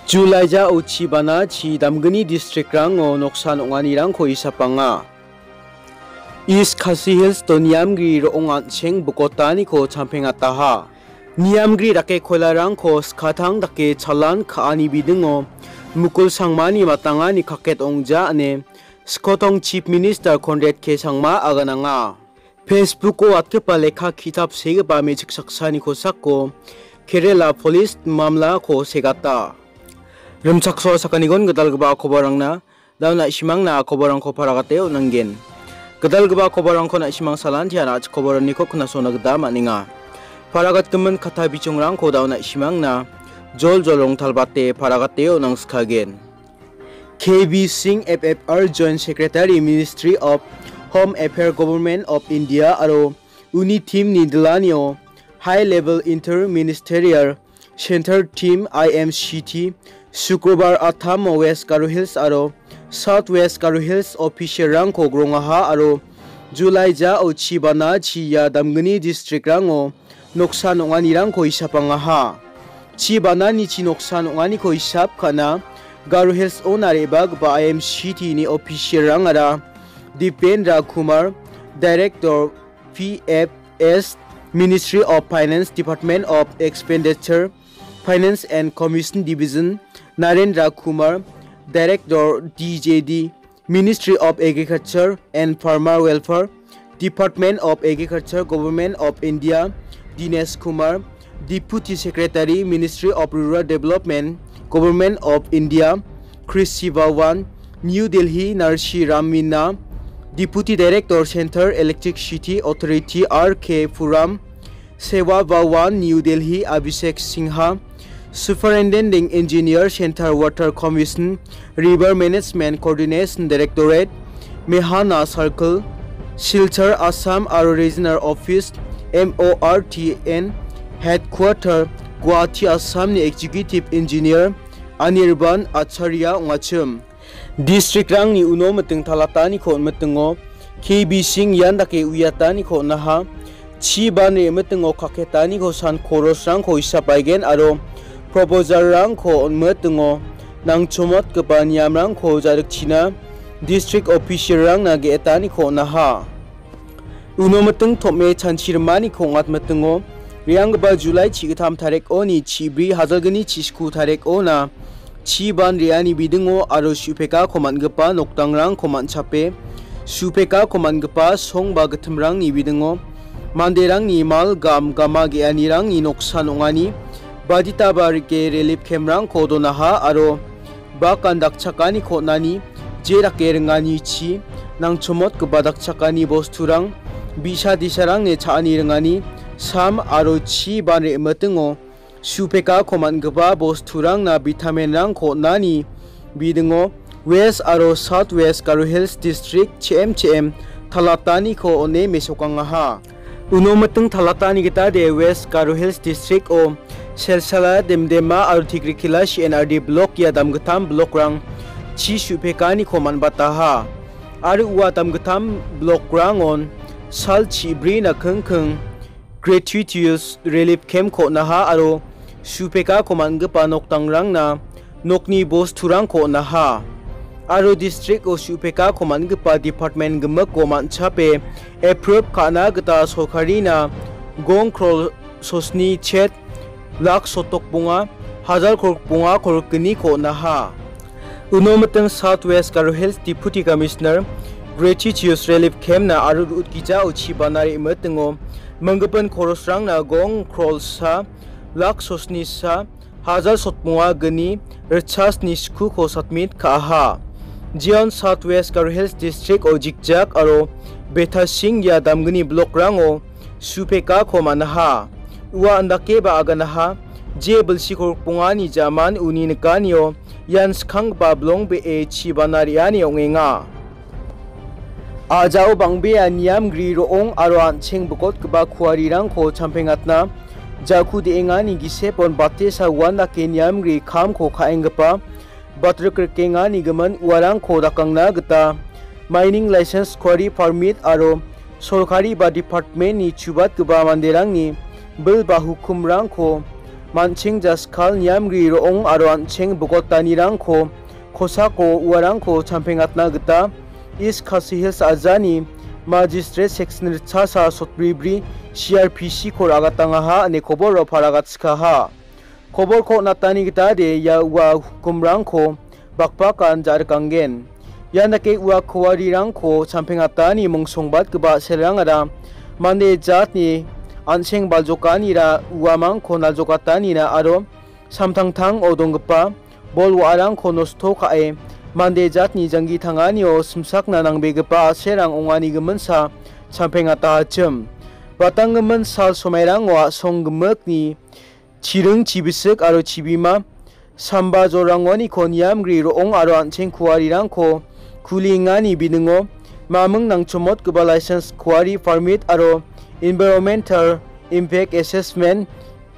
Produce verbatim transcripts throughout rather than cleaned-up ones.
Julaija ochi bana chi damgni districtrango noksan ong·anirangko isapanga. East Khasi Hills-o niamgri ro·ong an·cheng bokotaniko champengataha. Niamgri dake koilarangko skatang dake chalan ka·ani bidingo Mukul Sangmani matangani kaket ong·ja ine Skotong Chief Minister Conrad K Sangma agananga. Facebook-o atgipa lekka ki·tap segipa me·chik saksani kosako Kerala Police mamlako segata. Rimchaksoa sakanigon gitalgipa kobarangna, da·o na·simangna kobarangko paragate on·angen. Gitalgipa kobarangko na·simang salantian a·chik kobaraniko knasona gita man·enga. Paragatgimin katta bichongrangko da·o na·simangna joljol rongtalbate paragate on·angskagen. K B Singh, F F R Joint Secretary, Ministry of Home Affairs, Government of India aro uni team-ni dilanio High Level Inter-Ministerial Center Team, I M C T, Sukrobar Attamo West Garo Hills aro South West Garo Hills official-rangko grongaha aro July ja o chibana chi ia damgni district-rango noksan ong·anirangko isapangaha. Chi banani chi noksan ong·aniko isap ka·na Garo Hills-ona re·bagipa I M C T-ni official-rangara Dipendra Kumar, Director, P F S, Ministry of Finance, Department of Expenditure, Finance and Commission Division, Narendra Kumar, Director, D J D, Ministry of Agriculture and Farmer Welfare, Department of Agriculture, Government of India, Dinesh Kumar, Deputy Secretary, Ministry of Rural Development, Government of India, Krishi Bhawan, New Delhi, Narshi Ramina, Deputy Director, Central Electricity Authority, R K Puram, Seva Bhawan, New Delhi, Abhishek Singha, Superintending Engineer, Central Water Commission, River Management Coordination Directorate, Mehana Circle, Silchar, Assam aro Regional Office, M O R T N, Headquarter, Guwahati, Assam-ni Executive Engineer, Anirban Acharya ong·achim. District-rangni uno miting talataniko on·mitingo K B Singh ian dake uiataniko on·aha. Chi ban re·mitingo kaketaniko san koros-rangko isapaigen aro proposal-rangko on·mitingo nangchomotgipa niamrangko ja·rikchina district official-rangna ge·etaniko on·aha. Uno miting tom·e chanchi rimaniko ong·atmitingo, re·anggipa July chigittam tarikoni chibri hajalgni chisku tarikona chi ban re·ani bidingo aro su·pekako man·gipa nokdangrangko man·chape, su·pekako man·gipa song ba gitimrangni bidingo manderangni mal gam gama ge·anirangni noksan ong·ani baditaba rike relief camp-rangko donaha aro bakan dakchakaniko on·ani, je dake ringanichi nangchomotgipa dakchakani bosturang, bi·sa disarangni cha·ani ringani sam aro chi ban re·mitingo su·pekako man·gipa bosturangna vitamin-rangko on·ani bidingo West aro South West Garo Hills District che·em che·em talataniko on·e mesokangaha. Uno miting talatani gita de West Garo Hills District-o Selsala, Demdema aro Tikrikila C N R D block ia damgittam block-rang chi su·pekaniko man·bataha. Aro ua damgittam block-rangon sal chibrina kingking gratuitous relief camp-ko on·aha aro su·pekako man·gipa nokdangrangna nokni bosturangko on·aha. Aro district-o su·pekako man·gipa department gimikko man·chape approve ka·na gita sorkarina gong krol sosni chet lak sotok bonga hajar korok bonga korok gniko on·aha. Uno miting South West Garo Hills Deputy Commissioner Gratuitous Relief Camp-na aro ru·utgijao chibana re·mitingo minggipin korosrangna gong krol sa lak sosni sa hajar sotmonga gni ritchasni skuko submit ka·aha. Jeon South West Garo Hills District-o Jikjak aro Betasing ia damgni block-rango su·pekako man·aha. Ua andakeba aganaha, je bilsi korokbongani jaman uni nikanio ian skanggipa bilong be·e chibana re·ani ong·enga. A·jao bang·bea niamgri ro·ong aro an·cheng bikotgipa kuarirangko champengatna ja·ku de·engani gisepon batesa uandake niamgri kamko ka·enggipa batrik rikengani gimin uarangko dakangna gita mining license, quarry permit aro sorkari ba department-ni chubatgipa manderangni bil ba hukumrangko man·cheng jaskal niamri ro·ong aro an·cheng bogotanirangko kosako uarangko champengatna gita East Khasi Hills ajani Magistrate Section ritchasa sotbribri C R P C ko ra·gatangaha ine koboro paragatskaha. Koborko natani gitade ia ua hukumrangko bakbakan ja·rikanggen. Ian dake ua kuarirangko champengatani mongsongbatgipa selrangara mande jatni an·seng baljokanira uamangko naljokatanina aro samtangtango donggipa bol wa·arangko nosto ka·e mande jatni janggi tanganio simsakna nangbegipa a·serang ongani giminsa champengatahachim. Batanggimin sal somairango a·song gimikni chiring chibisik aro chibima samba jorangoniko niamgri ro·ong aro an·cheng kuarirangko kuliengani biningo maming nangchomotgipa license kuari permit aro environmental impact assessment,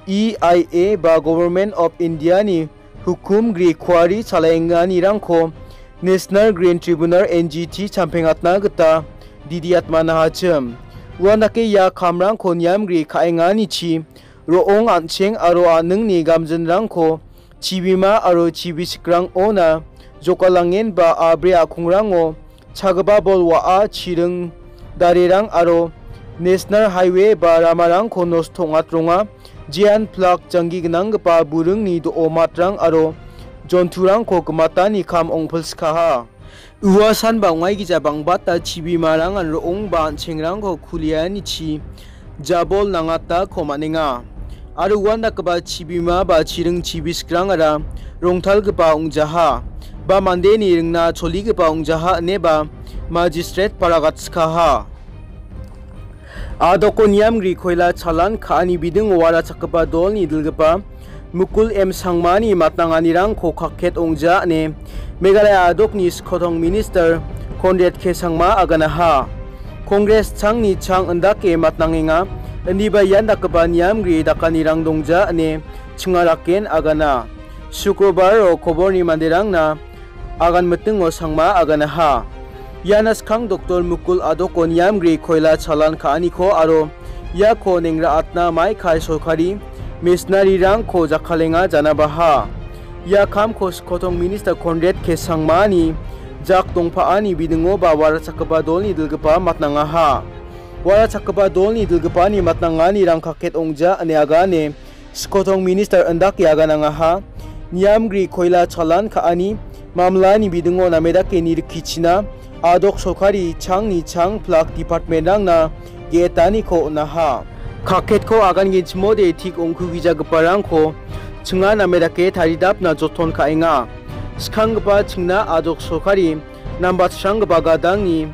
E I A, ba Government of India-ni hukum gri kuari chalaenganirangko National Green Tribunal, N G T, champengatna gita didiatmanahachim. Uandake ia kamrangko niamgri ka·enganichi ro·ong an·cheng aro a·ningni gamjinrangko chibima aro chibisikrangona jokalangenba a·bri a·kongrango chagipa bol wa·a, chiring darerang aro National Highway ba ramarangko nosto ong·atronga. Jean Plak janggi gnanggipa buringni do·o matrang aro jonturangko gimatani kam ong·pilskaha. Ua sanba ong·aigija bang·bata chibimarangan ro·ong ba an·chengrangko kulianichi jabol nangatako man·enga. Aro uandakgipa chibima ba chiring chibiskrangara rongtalgipa ong·jaha, ba mandeni ringna choligipa ong·jaha ineba magistrate paragatskaha. A·doko niamgri koila chalan ka·ani bidingo warachakgipa dolni dilgipa Mukul M Sangmani matnanganirangko kakket ong·ja ine Meghalaya a·dokni skotong minister Conrad K Sangma aganaha. Congress changni chang indake matnangenga, indiba ian dakgipa niamgri dakanirang dongja ine chingaraken agana. Sukrobaro koborni manderangna agan mitingo Sangma aganaha. Iana skang Doktor Mukul a·doko niamgri koila chalan ka·aniko aro iako neng ra·atna maikai sorkari missionarirangko jakkalenga janabaha. Ia kamko skotong minister Conrad K Sangmani jak dongpa·ani bidingo ba warachakgipa dolni dilgipa matnangaha. Warachakgipa dolni dilgipani matnanganirang kakket ong·ja ine agane skotong minister indake aganangaha. Niamgri koila chalan ka·ani mamlani bidingo namedake nirikkichina a·dok sorkari changni chang plak departmentrangna ge·etaniko on·aha. Kakketko agangenchimode tik ongkugijagiparangko chinga namedake taridapna joton ka·enga. Skanggipa chingna a·dok sorkari nambatsranggipa gadangni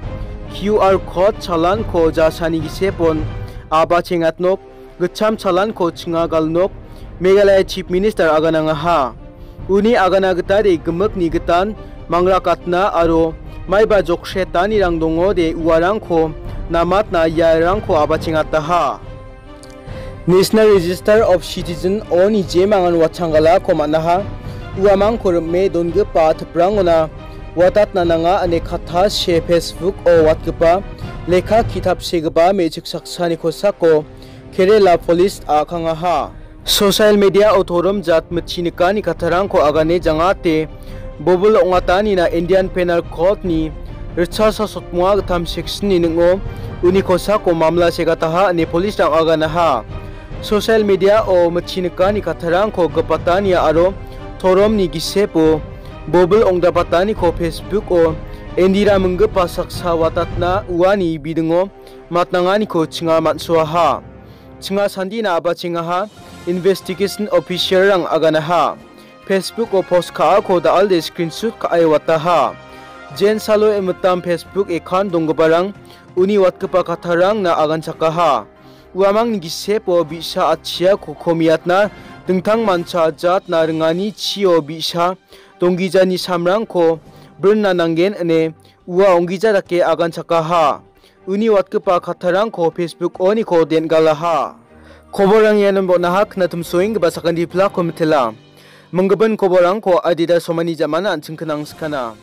Q R code chalanko jasani gisepon a·bachengatnok, gitcham chalanko chinga galnok, Meghalaya Chief Minister aganangaha. Uni agana gitade gimikni gitan mangrakatna aro maiba joksetanirang dongode uarangko namatna iarangko a·bachengataha. National Register of Citizen oni jemangan watchanggalako man·aha. Uamangko rim·e dongipa tiprangona watatna nanga ine katta se Facebook-o watgipa lekka ki·tapsegipa me·chik saksani kosako Kerala Police a·kangaha. Social media-o torom jat mitchi nikani kattarangko agane jangate bobil ong·atanina Indian Penal Code-ni ritchasa sotmoa gittam section-ni ning·o uni kosako mamla segataha ine police-rang aganaha. Social media-o mitchi nikani kattarangko gipatania aro toromni gisepo bobil ong·dapataniko Facebook-o Indira minggipa saksa watatna uani bidingo matnanganiko chinga man·soaha. Chinga sandina a·bachengaha, investigation officer-rang aganaha. Facebook-o post ka·ako da·alde screenshot ka·e wataha. Jensalo emitam Facebook account donggiparang uni watgipa kattarangna aganchakaha. Uamangni gisepo bi·sa atchiako komiatna dingtangmancha jatna ringani chio bi·sa donggijani samrangko brinna nanggen ine ua onggija dake aganchakaha. Uni watgipa kattarangko Facebook oniko den·galaha. Koborrang ianon bon·aha, knatumsoenggipa sakantipilako mitela. Minggipa koborrangko adita somani jamana an·ching knang skana.